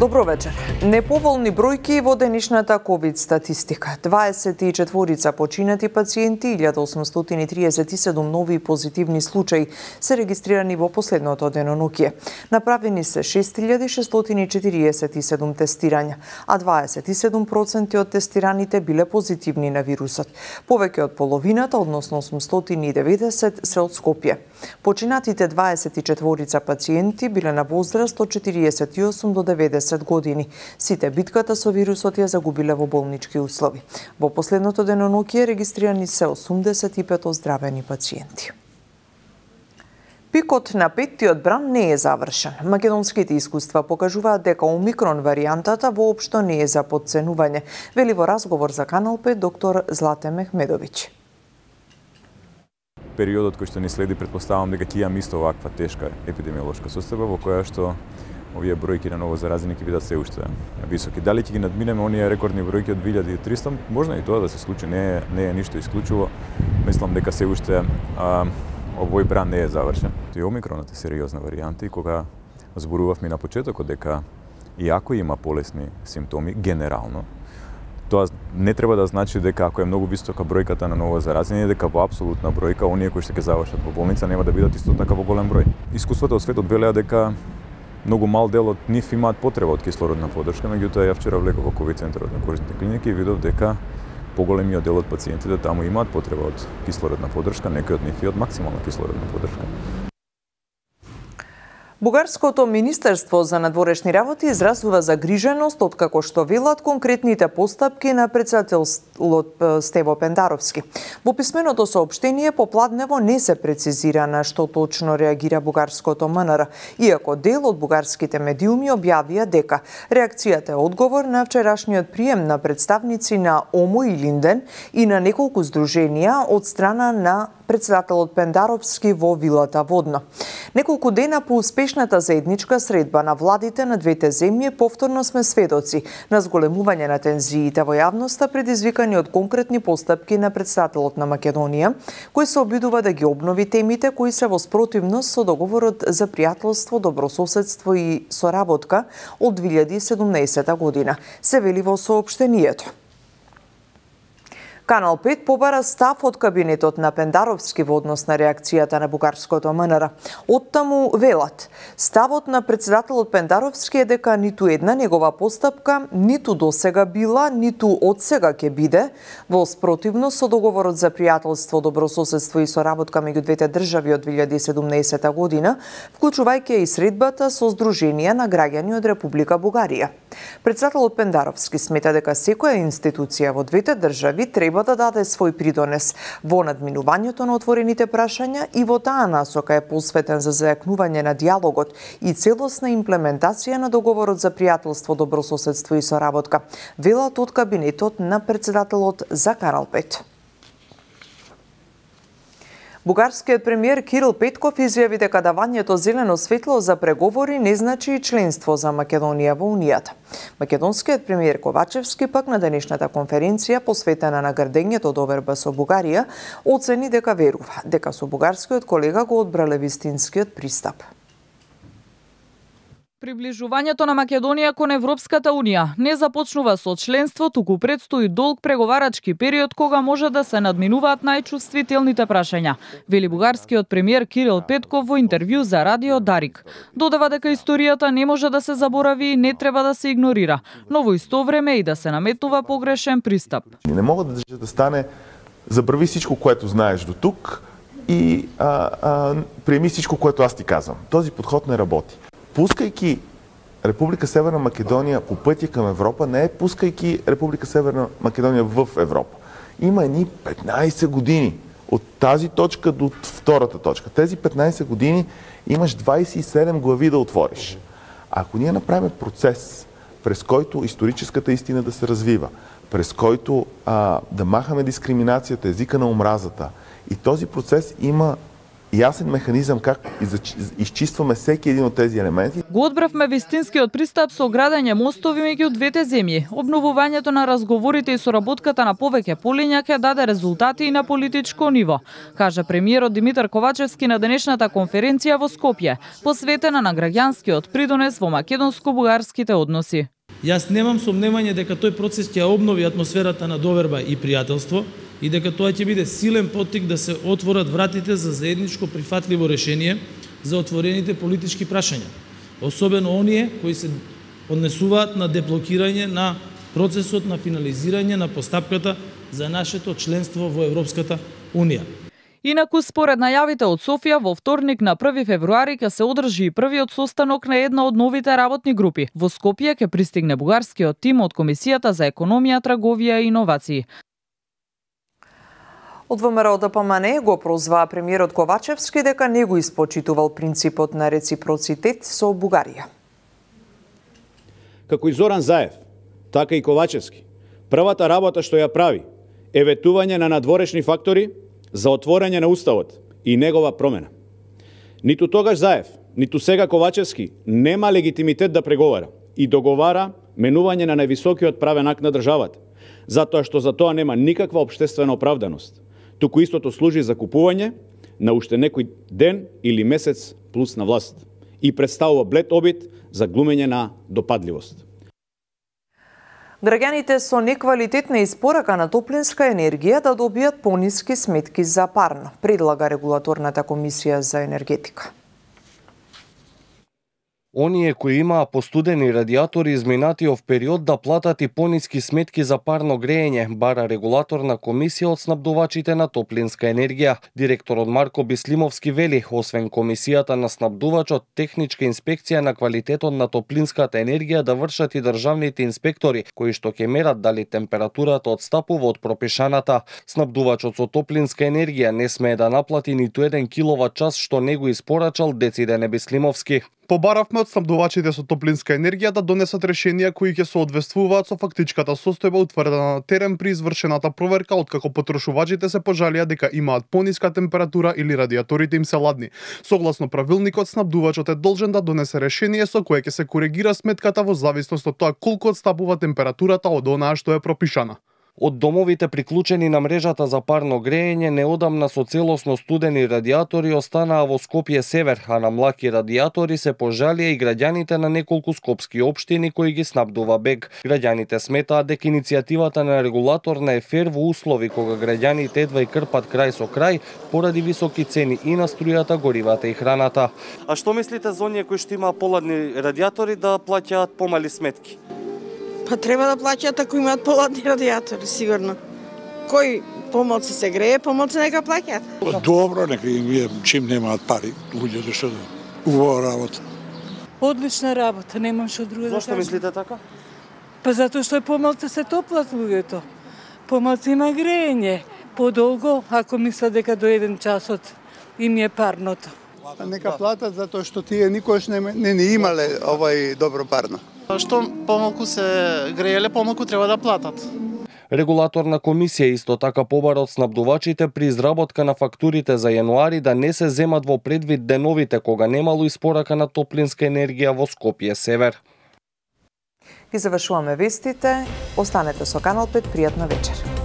Добро вечер. Неповолни бројки во денешната ковид статистика. 24 починати пациенти, 1837 нови позитивни случаи се регистрирани во последното деноноќие. Направени се 6647 тестирања, а 27% од тестираните биле позитивни на вирусот. Повеќе од половината, односно 890, се од Скопје. Починатите 24 пациенти биле на возраст од 48 до 90 години. Сите битката со вирусот ја загубиле во болнички услови. Во последното деноноќие регистрирани се 85 оздравени пациенти. Пикот на петтиот бран не е завршен. Македонските искуства покажуваат дека омикрон варијантата воопшто не е за потценување, вели во разговор за Канал 5 доктор Злате Мехмедовиќ. Периодот кој што ни следи, претпоставам дека ќе имаме исто оваква тешка епидемиолошка состојба во која што овие бројки на ново заразени ќе бидат се уште високи. Дали ќе ги надминеме оние рекордни бројки од 2300? Можна и тоа да се случи, не е ништо исклучиво. Мислам дека се уште овој бран не е завршен. И омикронот е сериозна варијанта и кога зборувавме на почетокот дека иако има полесни симптоми генерално, тоа не треба да значи дека ако е многу висока бројката на ново заразени, дека во апсолутна бројка оние кои што ќе завршат во болница нема да бидат исто така во голем број. Искуствата од светот велеа дека многу мал дел од нив имаат потреба од кислородна поддршка, меѓутоа ја вчера влегов во ковид центарот на Кожните клиники и видов дека поголемиот дел од пациентите таму имаат потреба од кислородна поддршка, некои од нив и од максимална кислородна поддршка. Бугарското Министерство за надворешни работи изразува загриженост откако што велат конкретните постапки на председателот Стево Пендаровски. Во писменото соопштение попладнево не се прецизира на што точно реагира бугарското МНР, иако дел од бугарските медиуми објавија дека реакцијата е одговор на вчерашниот прием на представници на ОМО и Линден и на неколку здруженија од страна на председателот Пендаровски во вилата Водно. Неколку дена по успешната заедничка средба на владите на двете земји повторно сме сведоци на зголемување на тензиите во јавноста предизвикани од конкретни постапки на председателот на Македонија, кој се обидува да ги обнови темите кои се во спротивност со договорот за пријателство, добрососедство и соработка од 2017 година, се вели во соопштението. Канал 5 побара став од кабинетот на Пендаровски во однос на реакцијата на бугарското МНР. Оттаму велат, ставот на председателот Пендаровски е дека ниту една негова постапка ниту досега била, ниту одсега ќе биде во спротивност со договорот за пријателство, добрососедство и соработка меѓу двете држави од 2017 година, вклучувајќи и средбата со здруженија на граѓани од Република Бугарија. Председателот Пендаровски смета дека секоја институција во двете држави треба да даде свој придонес во надминувањето на отворените прашања и во таа насока е посветен за зајакнување на диалогот и целосна имплементација на договорот за пријателство, добрососедство и соработка, велат од кабинетот на председателот за Канал 5. Бугарскиот премиер Кирил Петков изјави дека давањето зелено светло за преговори не значи членство за Македонија во Унијата. Македонскиот премиер Ковачевски пак на денешната конференција посветена на грдењето доверба со Бугарија оцени дека верува дека со бугарскиот колега го одбрале вистинскиот пристап. Приближувањето на Македонија кон Европската Унија не започнува со членство, туку предстои долг преговарачки период кога може да се надминуваат најчувствителните прашања, вели бугарскиот премиер Кирил Петков во интервју за Радио Дарик. Додава дека историјата не може да се заборави и не треба да се игнорира, но во исто време и да се наметнува погрешен пристап. Не мога да стане забрави всичко, което знаеш до тук и приеми всичко, което аз ти казвам. Този подход не работи. Пускайки Република Северна Македонија по пътя към Европа, не е пускайки Република Северна Македонија в Европа. Има едни 15 години от тази точка до втората точка. Тези 15 години имаш 27 глави да отвориш. Ако ние направим процес, през който историческата истина да се развива, през който да махаме дискриминацията, езика на омразата, и този процес има ясен механизам как изчистваме всеки един от тези елементи. Го одбравме вистинскиот пристап со градење мостови меѓу двете земји. Обновувањето на разговорите и соработката на повеќе полиња ќе даде резултати и на политичко ниво, кажа премиерот Димитар Ковачевски на денешната конференција во Скопје, посветена на граѓанскиот придонес во македонско-бугарските односи. Јас немам сомневање дека тој процес ќе обнови атмосферата на доверба и пријателство и дека тоа ќе биде силен поттик да се отворат вратите за заедничко прифатливо решение за отворените политички прашања, особено оние кои се однесуваат на деблокирање на процесот на финализирање на постапката за нашето членство во Европската Унија. Инаку, според најавите од Софија, во вторник на 1 февруари ќе се одржи и првиот состанок на една од новите работни групи. Во Скопје ќе пристигне бугарскиот тим од Комисијата за економија, трговија и иновации. Од ВМРО ДПМН го прозваа премиерот Ковачевски дека не го испочитувал принципот на реципроцитет со Бугарија. Како и Зоран Заев, така и Ковачевски, првата работа што ја прави е ветување на надворешни фактори за отворање на уставот и негова промена. Ниту тогаш Заев, ниту сега Ковачевски нема легитимитет да преговара и договара менување на највисокиот правен акт на државата, затоа што за тоа нема никаква општествена оправданост. Туку истото служи за купување на уште некој ден или месец плюс на власт и представува блед обид за глумење на допадливост. Граѓаните со неквалитетна испорака на топлинска енергија да добијат пониски сметки за парно, предлага регулаторната комисија за енергетика. Оние кои имаа постудени радиатори изминатиот период да платат и пониски сметки за парно грејење, бара регулаторна комисија од снабдувачите на топлинска енергија. Директорот Марко Бислимовски вели, освен комисијата на снабдувачот, техничка инспекција на квалитетот на топлинската енергија да вршат и државните инспектори, кои што ќе мерат дали температурата одстапува од пропишаната. Снабдувачот со топлинска енергија не смее да наплати ниту 1 киловат час што не го испорачал, дециде Бислимовски. Побаравме од снабдувачите со топлинска енергија да донесат решенија кои ќе соодветствуваат со фактичката состојба утврдена на терен при извршената проверка, откако потрошувачите се пожалија дека имаат пониска температура или радиаторите им се ладни. Согласно правилникот, снабдувачот е должен да донесе решение со кое ќе се коригира сметката во зависност од тоа колку отстапува температурата од онаа што е пропишана. Од домовите приклучени на мрежата за парно грејење неодамна со целосно студени радиатори останаа во Скопје Север, а на млаки радиатори се пожалија и граѓаните на неколку скопски општини кои ги снабдува БЕГ. Граѓаните сметаат дека иницијативата на регулаторна е фер во услови кога граѓаните едва и крпат крај со крај поради високи цени и на струјата, горивата и храната. А што мислите за оние кои што имаат поладни радиатори да плаќаат помали сметки? Па треба да плаќаат ако имаат поладни радиатори, сигурно. Кој помалку се грее, помалку нека плаќаат. Добро, нека им чим немаат пари, луѓето што да убава работа. Одлична работа, немам што друго да кажам. Зошто мислите така? Па затоа што помалку се топлат луѓето. Помалку има грејење, подолго ако мислат дека до 1 часот им е парното. Нека платат затоа што тие никош не имале овај добро парно. Што помалку се грееле, помалку треба да платат. Регулаторна комисија исто така побара од снабдувачите при изработка на фактурите за јануари да не се земат во предвид деновите кога немало испорака на топлинска енергија во Скопје Север. Ги завршуваме вестите. Останете со Канал 5, пријатна вечер.